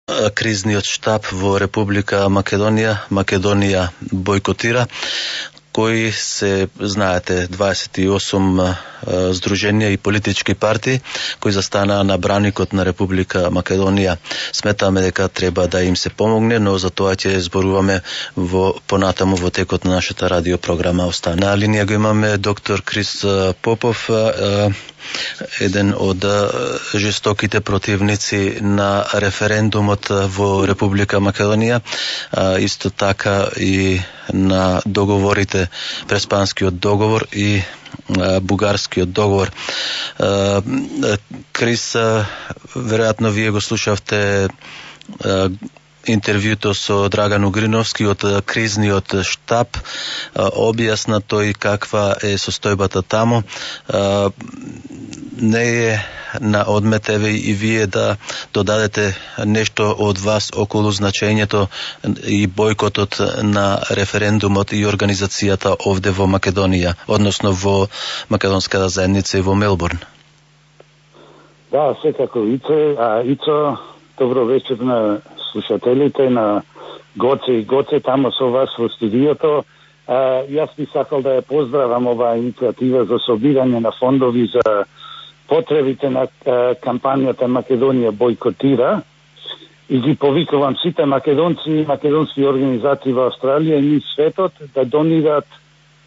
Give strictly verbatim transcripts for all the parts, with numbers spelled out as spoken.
кризниот штаб во Република Македонија, Македонија бойкотира, кои се, знаете, дваесет и осум здруженија и политички партии кои застанаа на браникот на Република Македонија. Сметаме дека треба да им се помогне, но за тоа ќе зборуваме во понатаму во текот на нашата радиопрограма. Остана на линија го имаме доктор Крис Попов, еден од жестоките противници на референдумот во Република Македонија, исто така и на договорите, Преспанскиот договор и Бугарскиот договор. Крис, веројатно вие го слушавте интервјуто со Драган Угриновски од кризниот штаб. Објасна тој каква е состојбата таму. Не е на одмет еве и вие да додадете нешто од вас околу значењето и бойкотот на референдумот и организацијата овде во Македонија, односно во македонската заедница и во Мелбурн. Да, секако Ице, а Ицо, добро вечер на слушателите, на Гоце и Гоце тамо со вас во студиото. А, јас би сакал да ја поздравам оваа иницијатива за собирање на фондови за потребите на кампањата Македонија бойкотира и ги повикувам сите македонци и македонски организации во Австралија и светот да донираат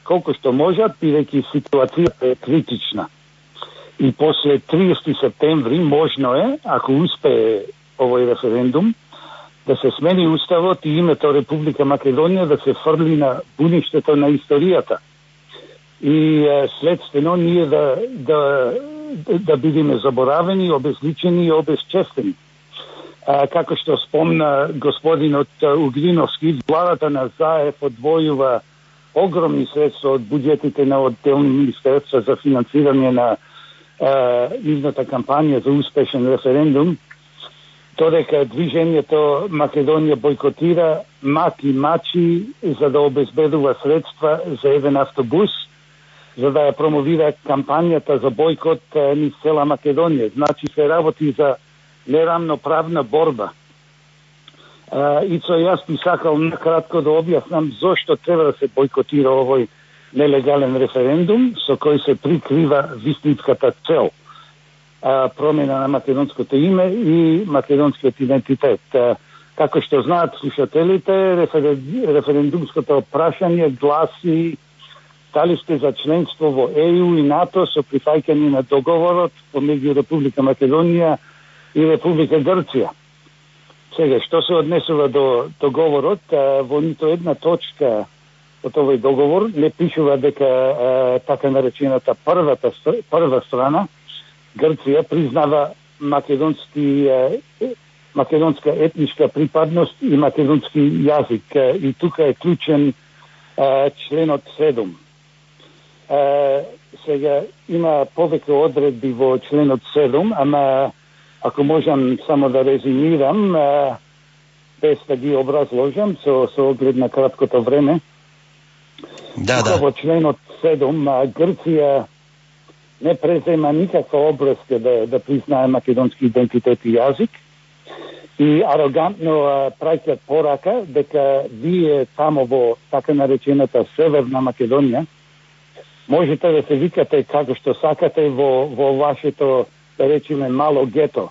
колку што можат, бидејќи ситуацијата е критична. И после триесети септември можно е, ако успее овој референдум, да се смени уставот и името Република Македонија да се фрли на буништето на историјата. И следствено ние да, да, да бидеме заборавени, обезличени и обезчестени. А, како што спомна господинот Угриновски, владата на Заев одвојува огромни средства од буџетите на отделни министерства за финансирање на нивната кампања за успешен референдум, додека движењето Македонија бойкотира маки мачи за да обезбедува средства за еден автобус, за да ја промовира кампањата за бойкот низ цела Македонија. Значи се работи за нерамноправна борба. Ицо, јас би сакал накратко да објаснам зошто треба да се бойкотира овој нелегален референдум со кој се прикрива вистинската цел, промена на македонското име и македонскиот идентитет. Како што знаат слушателите, референдумското прашање гласи дали сте за членство во Е Ју и НАТО со прифаќање на договорот помеѓу Република Македонија и Република Грција. Сега, што се однесува до договорот, во нито една точка од овој договор не пишува дека а, така наречената првата прва страна Грција признава македонски а, македонска етничка припадност и македонски јазик. И тука е клучен а, членот седум. А, сега има повеќе одредби во членот седум, ама ако можам само да резимирам, а, без да ги образложам со, со оглед на краткото време. Да, тука да. Во членот седум Грција не презема никаква обврска да, да признае македонски идентитет и јазик и арогантно праќаат порака дека вие тамо во така наречената Северна Македонија можете да се викате како што сакате во, во вашето, да речеме, мало гето.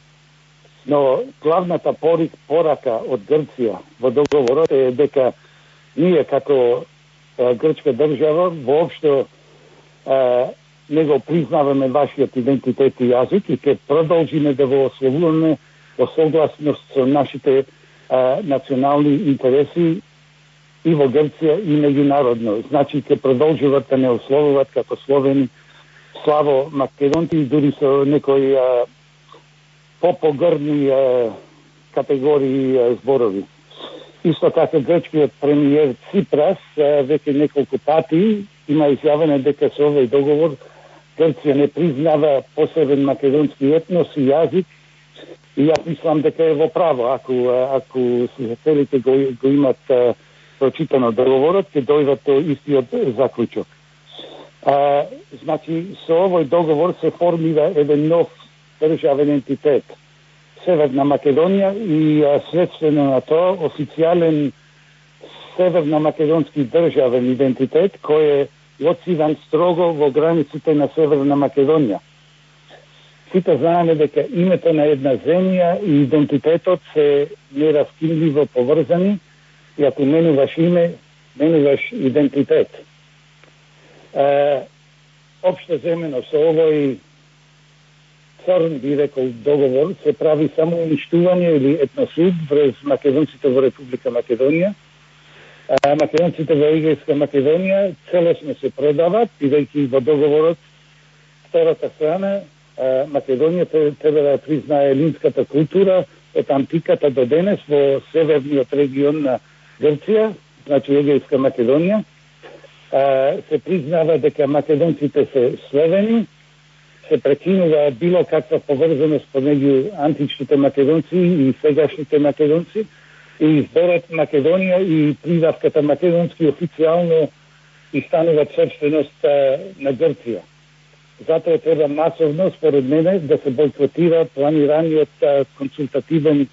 Но главната порик, порака од Грција во договорот е дека ние како е, грчка држава воопшто е, не го признаваме вашиот идентитет и јазик и ќе продолжиме да го ословуваме во согласност со нашите а, национални интереси и во Грција и меѓународно. Значи ќе продолжуваат да не ословуваат како словени славо македонци и дури со некои а, попогрдни а, категории а, зборови. Исто така грчкиот премиер Ципрас а, веќе неколку пати има изјавено дека со овој договор Грција не признава посебен македонски етнос и јазик и јас мислам дека е во право. Ако, ако слушателите го, го имат а, прочитано договорот, ќе дојдат до истиот заклучок. А, значи, со овој договор се формира еден нов државен ентитет, Северна Македонија и следствено на тоа официјален северно-македонски државен идентитет кој е лоциран строго во границите на Северна Македонија. Сите знаеме дека името на една земја и идентитетот се нераскинливо поврзани и ако менуваш име, менуваш идентитет. Е, Општо земено со овој црн, би рекол, договор се прави само уништување или етносуд врз македонците во Република Македонија. А, македонците во Егејска Македонија целосно се предават, бидејќи во договорот втората страна а, Македонија треба да признае елинската култура од антиката до денес во северниот регион на Грција, значи Егејска Македонија. А, се признава дека македонците се словени, се прекинува било каква поврзаност помеѓу античните македонци и сегашните македонци и изборот Македонија и придавката македонски официјално и стануваат собственост на Грција. Затоа треба масовно, според мене, да се бойкотира планираниот консултативен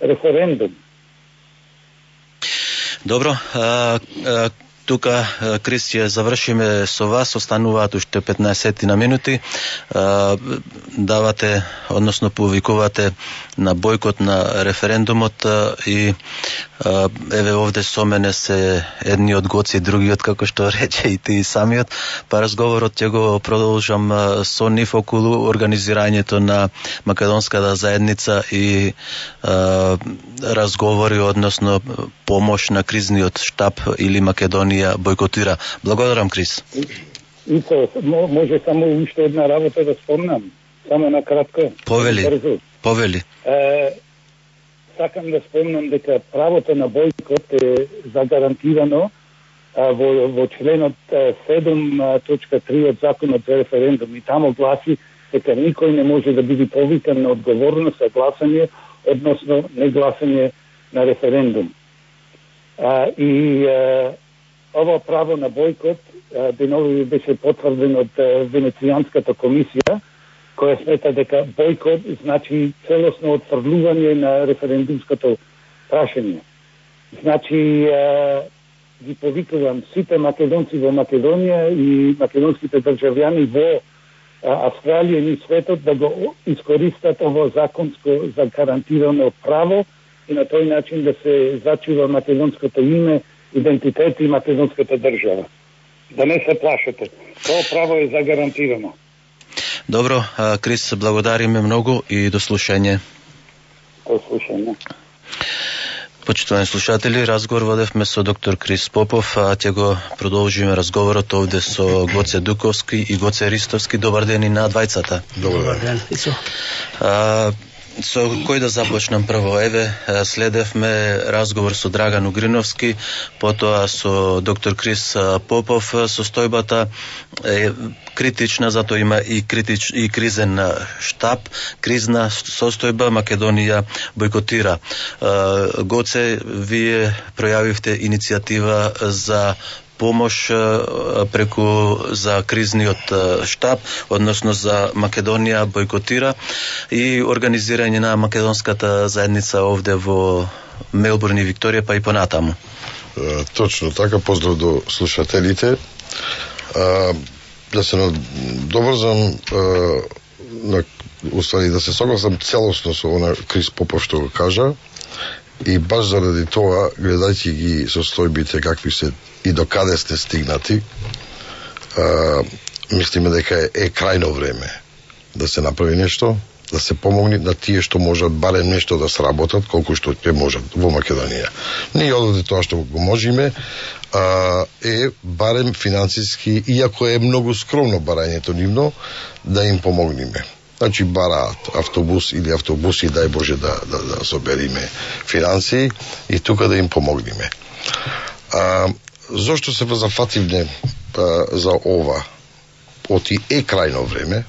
референдум. Добро, а, а... Тука, Крис, ќе завршиме со вас, остануваат уште петнаесет на минути. Давате, односно повикувате на бојкот на референдумот и еве овде со мене се едни од гоци, другиот, како што рече и ти самиот, па разговорот ќе го продолжам со нив околу организирањето на македонската заедница и разговори, односно помош на кризниот штаб или Македонија бойкотира. Благодарам, Крис. Ицо, може само уште една работа да спомнам, само на кратко. Повели, брзо. повели. Е, сакам да спомнам дека правото на бојкот е загарантирано а, во, во членот седум точка три од Законот за референдум и тамо гласи дека никој не може да биде повикан на одговорност за гласање, односно негласање на референдум. А, и а, ово право на бојкот денови беше потврден од Венецијанската комисија, која смета дека бојкот значи целосно отфрлување на референдумското прашање. Значи, ги повикувам сите македонци во Македонија и македонските државјани во Австралија и светот да го искористат ово законско загарантирано право и на тој начин да се зачува македонското име, идентитет и македонската држава. Да не се плашете. Тоа право е загарантирано. Добро, Крис, благодариме многу и до слушање. До слушање. Почитувани слушатели, разговор водевме со доктор Крис Попов, а ќе го продолжиме разговорот овде со Гоце Дуковски и Гоце Ристовски. Добар ден и на двајцата. Добар ден. А, со кој да започнам прво? Еве, следевме разговор со Драган Угриновски, потоа со доктор Крис Попов. Состојбата е критична, затоа има и критич и кризен штаб, кризна состојба, Македонија бойкотира. Гоце, вие пројавивте иницијатива за помош преку за кризниот штаб, односно за Македонија бойкотира и организирање на македонската заедница овде во Мелбурн и Викторија, па и понатаму. Точно така, поздрав до слушателите. Да се добрзам, на уствари да се согласам целосно со она Крис Попов што го кажа и баш заради тоа, гледајќи ги состојбите какви се и до каде сте стигнати, а, мислиме дека е, е крајно време да се направи нешто, да се помогне на тие што можат барем нешто да сработат, колку што ќе можат во Македонија. Ние ододе тоа што го можеме, а, е барем финансиски, иако е многу скромно барањето нивно, да им помогнеме. Значи бараат автобус или автобуси, дај Боже да, да, да собериме финансии и тука да им помогнеме. А, зошто се зафативне а, за ова? Оти е крајно време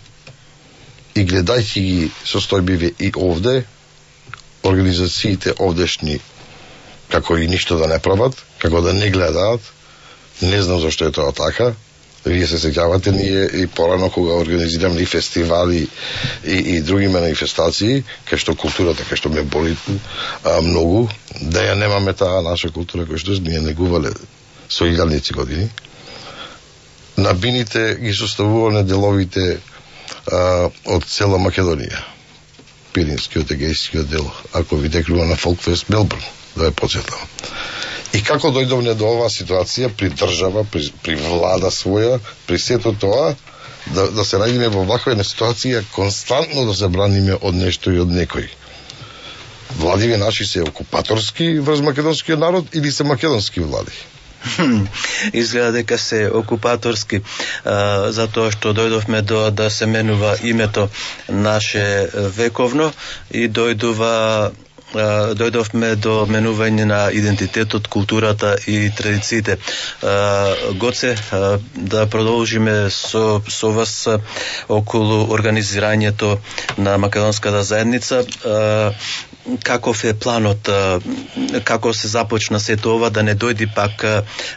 и гледајќи ги состојбиве и овде, организациите овдешни како и ништо да не прават, како да не гледаат, не знам зашто е тоа така, Вие се сеќавате, ние и порано кога организираме и фестивали и, и други манифестации, кај што културата, кај што ме боли а, многу, да ја немаме таа наша култура која што ние негувале со илјадници години. На бините ги составувале деловите а, од цела Македонија. Пиринскиот, Егејскиот дел, ако ви декрува на Фолкфест Мелбурн, да ја подсетам. И како дојдовме до оваа ситуација при држава, при, при влада своја, при сето тоа, да, да се најдеме во ваква една ситуација, константно да се браниме од нешто и од некој. Владиве наши се окупаторски врз македонскиот народ или се македонски влади? Изгледа дека се окупаторски, а, затоа што дојдовме до да се менува името наше вековно и дојдува дојдовме до менување на идентитетот, културата и традициите. Гоце, да продолжиме со, со вас околу организирањето на македонската заедница. Каков е планот, како се започна сето ова, да не дојди пак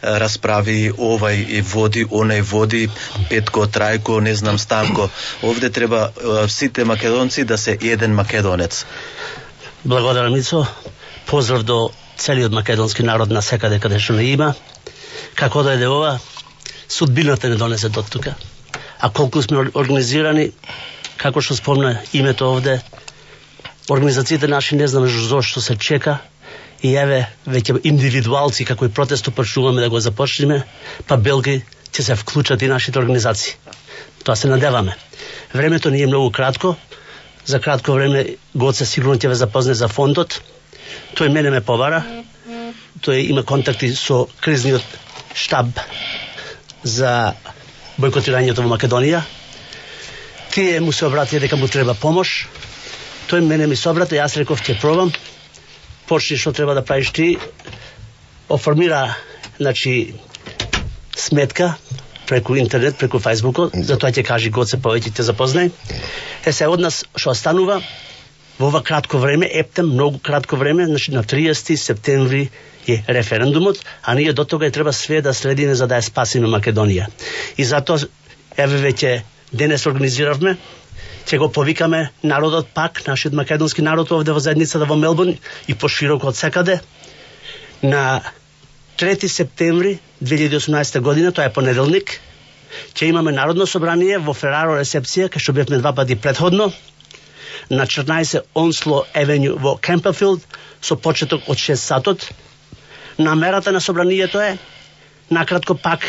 расправи овај и води, онај води, Петко, Трајко, не знам Станко. Овде треба сите македонци да се еден македонец. Благодарам, Мицо. Поздрав до целиот македонски народ на секаде каде што не има. Како да е ова, судбината не донесе до тука. А колку сме организирани, како што спомна името овде, организациите наши не знаме зошто се чека и еве веќе индивидуалци како и протесто почнуваме да го започнеме, па белги ќе се вклучат и нашите организации. Тоа се надеваме. Времето ни е многу кратко. За кратко време Гоце сигурно ќе ве запозне за фондот. Тој мене ме побара. Тој има контакти со кризниот штаб за бойкотирањето во Македонија. Тие му се обратија дека му треба помош. Тој мене ми се обрати, јас реков ќе пробам. Почни што треба да правиш ти. Оформира, значи, сметка преку интернет, преку Фајсбукот, затоа ќе кажи Гоце повеќе те запознај. Е се од нас што останува во ова кратко време, ептем многу кратко време, значи на триесети септември е референдумот, а ние до тога е треба све да следиме за да ја спасиме Македонија. И затоа еве веќе денес организиравме, ќе го повикаме народот пак, нашиот македонски народ овде во заедницата во Мелбурн и пошироко од секаде на трети септември две илјади и осумнаесета година, тоа е понеделник, ќе имаме народно собрание во Фераро ресепција, кај што бевме два пати претходно, на четрнаесет Онсло Евенју во Кемперфилд, со почеток од шест сатот. Намерата на собранието е, накратко пак,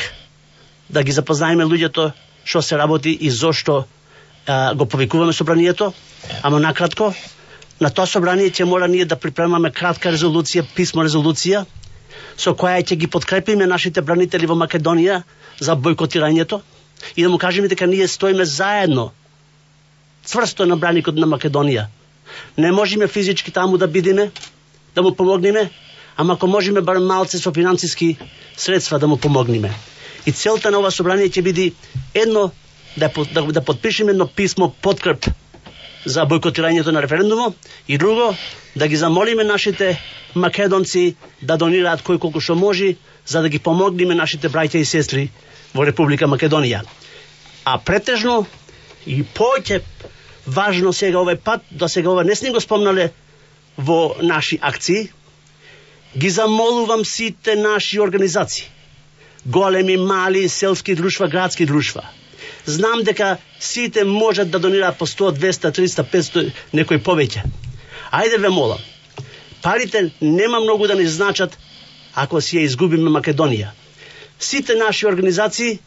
да ги запознаеме луѓето што се работи и зошто а, го повикуваме собранието, ама накратко, на тоа собрание ќе мора ние да припремаме кратка резолуција, писмо резолуција, со која ќе ги подкрепиме нашите бранители во Македонија за бойкотирањето и да му кажеме дека ние стоиме заедно цврсто на браникот на Македонија. Не можеме физички таму да бидеме, да му помогнеме, ама ако можеме барем малце со финансиски средства да му помогнеме. И целта на ова собрание ќе биде едно да, да, да подпишеме едно писмо подкреп за бойкотирањето на референдумот и друго да ги замолиме нашите македонци да донираат кој колку што може за да ги помогнеме нашите браќа и сестри во Република Македонија. А претежно и повеќе важно сега овој пат, до сега ова не сме го спомнале во наши акции, ги замолувам сите наши организации, големи, мали, селски друштва, градски друштва. Знам дека сите можат да донираат по сто, двесте, триста, петсто, некој повеќе. Ајде ве молам, парите нема многу да ни значат ако си ја изгубиме Македонија. Сите наши организации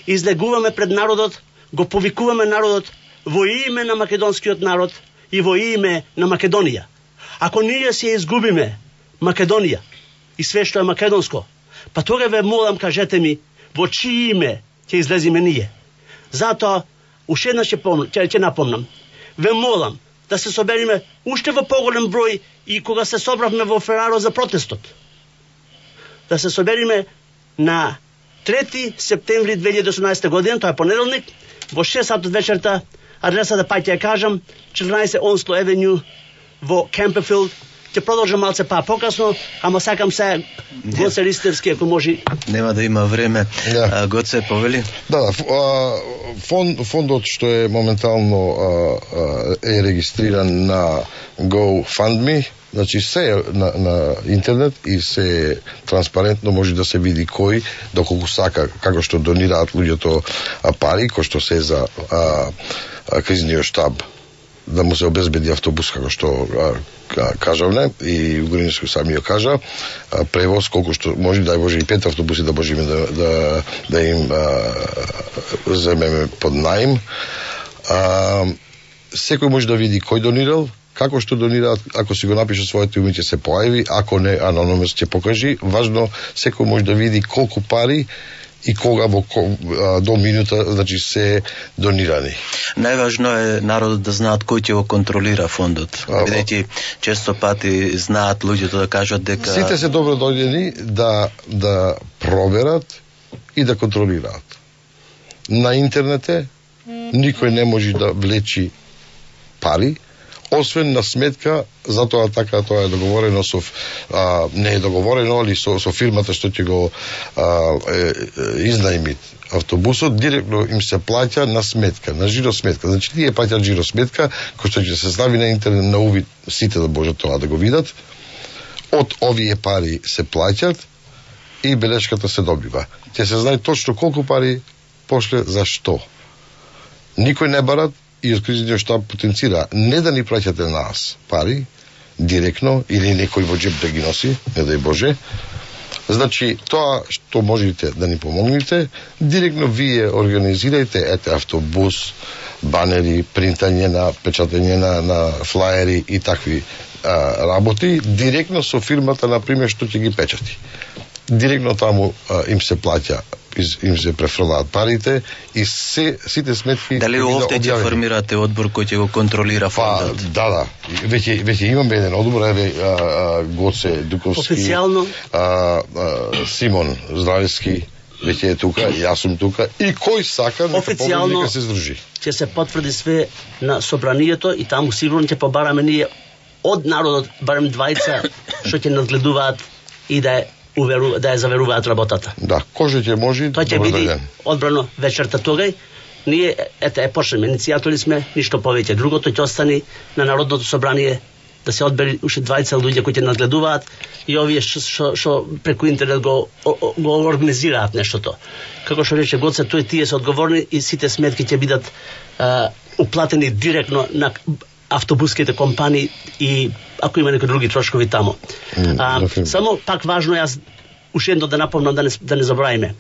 излегуваме пред народот, го повикуваме народот во име на македонскиот народ и во име на Македонија. Ако ние си ја изгубиме Македонија и све што е македонско, па тога ве молам, кажете ми, во чие име ќе излезиме ние. Затоа, уште еднаш ќе, ќе, ќе напомнам, ве молам да се собериме уште во поголем број и кога се собравме во Фераро за протестот. Да се собериме на трети септември две илјади и осумнаесета година, тоа е понеделник, во шест сати вечерта, адреса да паќе ја кажам, четрнаесет Онсло Евенју во Кемперфилд, ќе продолжам малце па покасно, ама сакам се Гоце Ристевски, ако може. Нема да има време. Да. Гоце, повели? Да, да, фонд, фондот што е моментално а, е регистриран на GoFundMe, значи се на, на интернет и се транспарентно може да се види кој, доколку сака, како што донираат луѓето пари, кој што се за а, а, кризниот штаб, да му се обезбеди автобус, како што а, кажавме, и Угринско сами ја кажа, а, превоз, колку што може, дај Боже, и пет автобуси да можеме да, да, да им а, земеме под наим. А, секој може да види кој донирал, како што донираат, ако си го напише своето име ќе се појави, ако не, анонимно ќе покажи. Важно, секој може да види колку пари и кога во до минута, значи се донирани. Најважно е народот да знаат кој ќе го контролира фондот. Бидејќи често пати знаат луѓето да кажат дека сите се добро дојдени да да проверат и да контролираат. На интернете никој не може да влечи пари, освен на сметка, затоа така тоа е договорено со а, не е договорено, али со, со фирмата што ќе го а, е, е, изнајми автобусот, директно им се плаќа на сметка, на жиросметка. Значи тие плаќаат жиросметка, кој што ќе се стави на интернет на увид, сите да може тоа да го видат. Од овие пари се плаќат и белешката се добива. Ќе се знае точно колку пари пошле за што. Никој не барат и од кризниот штаб потенцира не да ни праќате нас пари директно или некој во джеб да ги носи, не дај Боже. Значи, тоа што можете да ни помогнете, директно вие организирајте, ете, автобус, банери, принтање на, печатање на, на флаери и такви а, работи, директно со фирмата, например, што ќе ги печати. Директно таму а, им се плаќа, им се префрлаат парите и се, сите сметки... Дали овде ќе формирате одбор кој ќе го контролира фондот? Па, да, да. Веќе, веќе имаме еден одбор, еве Гоце Дуковски, официјално, а, а, Симон Здравевски, веќе е тука, јас сум тука, и кој сака нека помогне, нека се здружи. Ќе се потврди све на собранието и таму сигурно ќе побараме ние од народот барем двајца што ќе надгледуваат и да е уверу, да ја заверуваат работата. Да, кој ќе може. Тоа ќе биде одбрано вечерта тогај. Ние ете е почнеме, иницијатори сме, ништо повеќе. Другото ќе остани на Народното собрание да се одбери уште двајца луѓе кои ќе надгледуваат и овие што што преку интернет го го организираат нештото. Како што рече Гоце, тој тие се одговорни и сите сметки ќе бидат а, уплатени директно на автобуските компании и ако има некои други трошкови таму. А, само пак важно јас уште едно да напомнам да не, да не забравиме.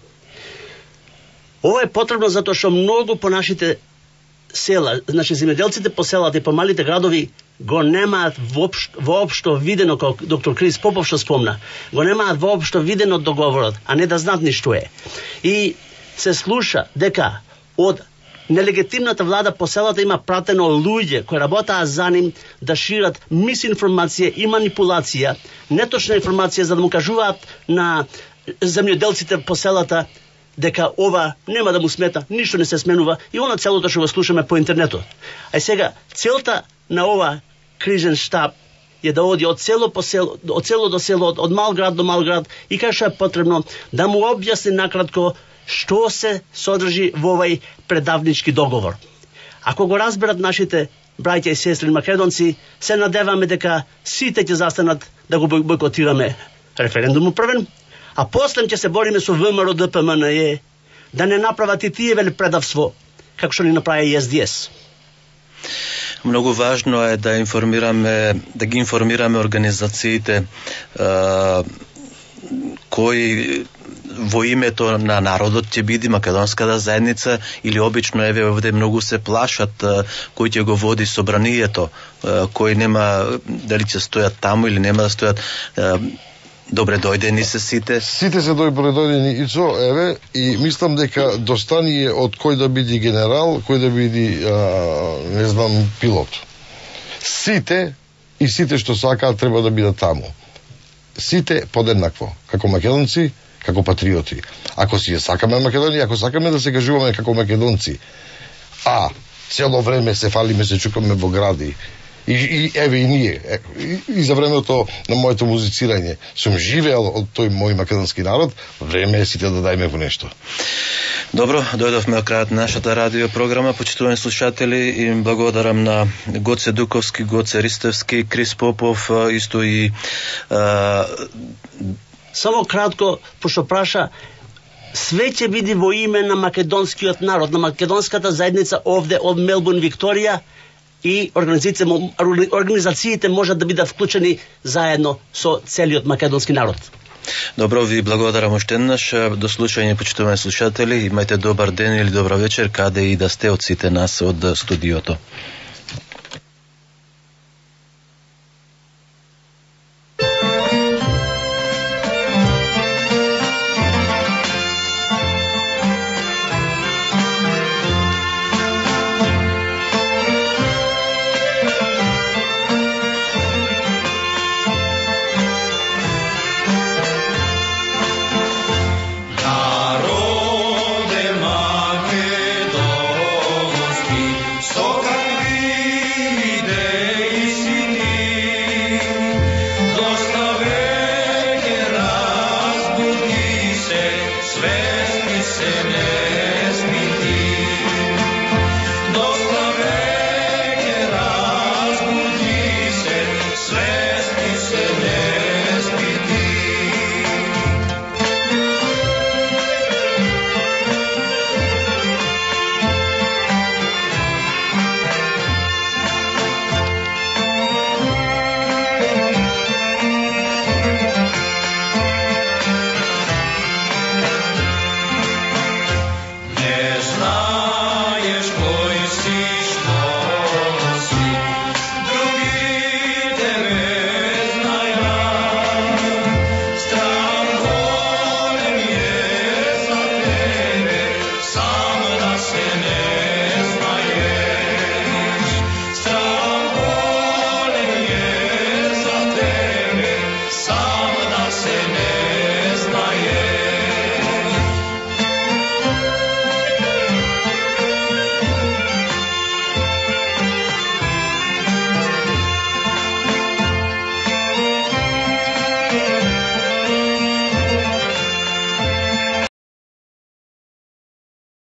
Ова е потребно затоа што многу по нашите села, значи земјоделците по селата и по малите градови го немаат воопшто, воопшто видено, како доктор Крис Попов што спомна, го немаат воопшто видено договорот, а не да знаат ништо е. И се слуша дека од нелегитимната влада по селата има пратено луѓе кои работаат за ним да шират мисинформација и манипулација, неточна информација за да му кажуваат на земјоделците по селата дека ова нема да му смета, ништо не се сменува и оно целото што го слушаме по интернетот. А сега целта на ова кризен штаб е да оди од село по село, од село до село, од, од мал град до мал град и кај што е потребно да му објасни накратко што се содржи во овај предавнички договор. Ако го разберат нашите браќа и сестри македонци, се надеваме дека сите ќе застанат да го бойкотираме референдумот првен, а после ќе се бориме со ВМРО, ДПМНЕ да не направат и тие вели предавство, како што ни направи и Ес Ди Ес. Многу важно е да информираме, да ги информираме организациите а, кои во името на народот ќе биде македонската заедница или обично еве овде многу се плашат кој ќе го води собранието, кој нема дали ќе стојат таму или нема да стојат. Добре дојдени се сите. Сите се добре дојдени и со еве и мислам дека достани од кој да биде генерал, кој да биде не знам пилот. Сите и сите што сакаат треба да бидат таму. Сите подеднакво, како македонци, како патриоти. Ако си ја сакаме Македонија, ако сакаме да се кажуваме како македонци, а цело време се фалиме, се чукаме во гради И, и еве и ние. Е, и, и за времето на моето музицирање сум живеел од тој мој македонски народ, време е сите да дајме во нешто. Добро, дојдовме од крајот на нашата радио програма. Почитувани слушатели, им благодарам на Гоце Дуковски, Гоце Ристевски, Крис Попов, исто и а... Само кратко, пошто праша, све ќе биде во име на македонскиот народ, на македонската заедница овде од Мелбурн, Викторија, и организациите, организациите можат да бидат вклучени заедно со целиот македонски народ. Добро, ви благодарам уште еднаш. До слушање, почитувани слушатели. Имајте добар ден или добра вечер, каде и да сте од сите нас од студиото.